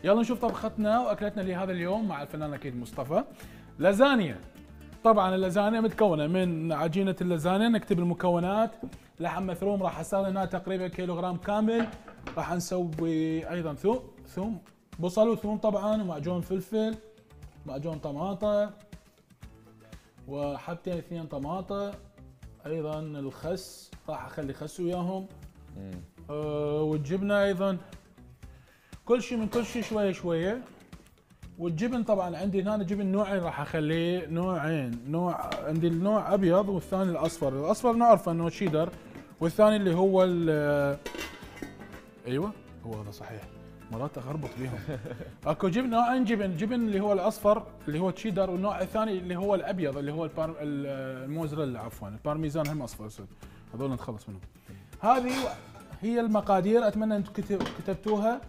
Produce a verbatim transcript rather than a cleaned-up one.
يلا نشوف طبختنا واكلتنا لهذا اليوم مع الفنان اكيد مصطفى. لازانيا. طبعا اللازانيا متكونه من عجينه اللازانيا، نكتب المكونات. لحم مثروم راح استخدم هنا تقريبا كيلوغرام كامل. راح نسوي ايضا ثوم ثوم بصل وثوم طبعا، ومعجون فلفل، معجون طماطه، وحبتين اثنين طماطه، ايضا الخس راح اخلي خس وياهم. أه والجبنه ايضا، كل شيء من كل شيء شويه شويه. والجبن طبعا عندي هنا جبن نوعين راح اخليه، نوعين، نوع عندي النوع ابيض والثاني الاصفر، الاصفر نعرفه انه شيدر، والثاني اللي هو ايوه هو هذا صحيح، مرات اخربط بيهم. اكو جبن نوعين جبن، الجبن اللي هو الاصفر اللي هو تشيدر، والنوع الثاني اللي هو الابيض اللي هو البار... الموزريلا عفوا، البارميزان هم اصفر اسود، هذول نتخلص منهم. هذه هي المقادير، اتمنى انتم كتبتوها.